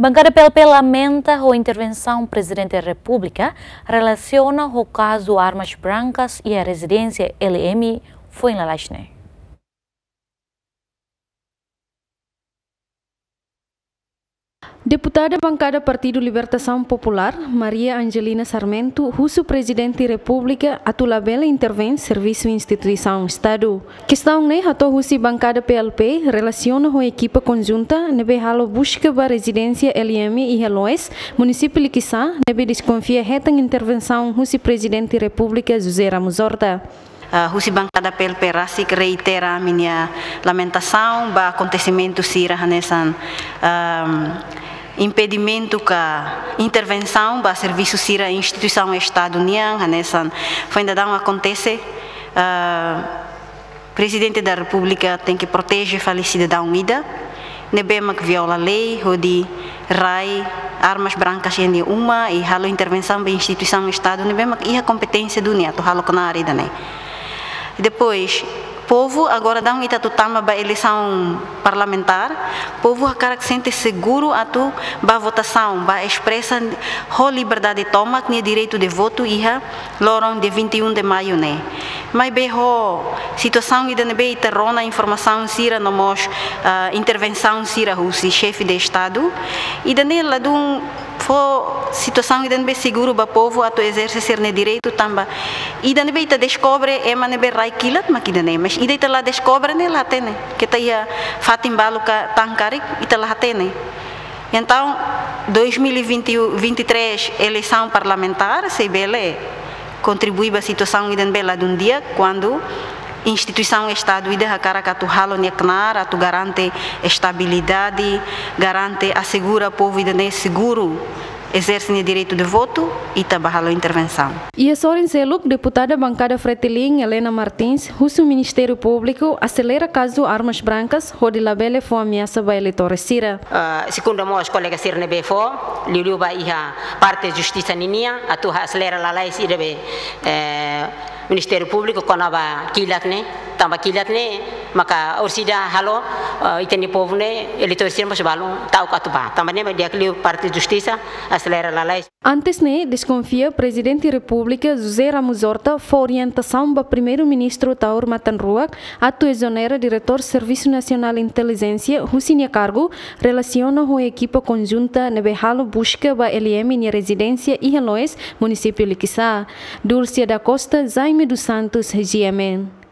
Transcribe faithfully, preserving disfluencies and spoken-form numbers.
Bankada P L P lamenta ho intervensaun Prezidente Repúblika relasiona ho kazu armas brankas iha rezidénsia L M foin lalais ne'e. Deputada bankada Partidu Libertasaun Populár, Maria Angelina Sarmento, husu Prezidente Repúblika atu labele intervein servisu instituisaun Estadu. Kestaun ne'e hato'o husi bankada P L P relasiona ho ekipa konjunta ne'ebé halo buska ba rezidénsia L M iha Loes, munisípiu Liquiçá, ne'ebé deskonfia hetan intervensaun husi Prezidente Repúblika José Ramos Horta. Ah, husi bankada P L P rasik reitera ami-nia lamentasaun ba akontesimentu sira hanesan, ahm, impedimentu ka intervensaun ba servisu sira instituisaun Estadu nian, hanesan foin dadaun akontese, ah, Prezidente da Repúblika tenke proteje fali sidadaun ida ne'ebé mak viola lei hodi rai armas brankas iha nia uma i halo intervensaun ba instituisaun Estadu ne'ebé mak iha kompeténsia duni atu halo knaar ida-ne'e. Depois, povu agora daudaun ita atu tama ba eleisaun parlamentár, povu hakarak sente seguru atu ba votasaun, ba espresa ho liberdade tomak nia direitu de votu iha loron dia vinte e um de maio ne'e. Maibé ho situasaun ida ne'ebé ita rona informasaun sira no mós, ah, intervensaun sira husi xefe de Estadu, ida-ne'e ladún fó situasaun ida ne'ebé seguru ba povu atu ezerse sira-nia direitu tanba ida ne'ebé ita deskobre ema ne'ebé rai kilat mak ida-ne'e, mas ida ita la deskobre ne'e la hatene. Keta iha fatin balu ka tan karik ita la hatene. Entaun, dois mil e vinte, vinte e três eleisaun parlamentár sei bele kontribui ba situasaun ida ne'ebé ladún di'ak, kuandu instituisaun Estadu ida hakarak atu halo nia knaar atu garante estabilidade, garante asegura povu ida-ne'e seguru ezerse nia direitu de votu, ita bá halo intervensaun. Iha sorin seluk, deputada bankada Fretilin, Helena Martins, husu Ministériu Públiku aselera kazu armas brankas hodi labele fó ameasa ba eleitór sira. Ah, segundu mós kolega sira ne'ebé fó, liuliu ba iha parte justisa ninian, atu aselera lalais ida be, eh, Ministériu Públiku kona-ba kilat ne'e, tanba kilat ne'e maka orsida halo, eh, ita-nia povu ne'e, eleitór sira mós balun ta'uk atu bá. Tanba ne'e mak di'ak liu parte justisa aselera lalais. Antes ne'e, deskonfia Prezidente Repúblika José Ramos Horta fó orientasaun ba Primeiru-Ministru Taur Matan Ruak atu ezonera Diretór Servisu Nasionál Intelijénsia husi nia kargu relasiona ho ekipa konjunta ne'ebé halo buska ba L M nia rezidénsia iha Loes, munisípiu Liquiçá. Dulcia da Costa, Jaime dos Santos, G M N.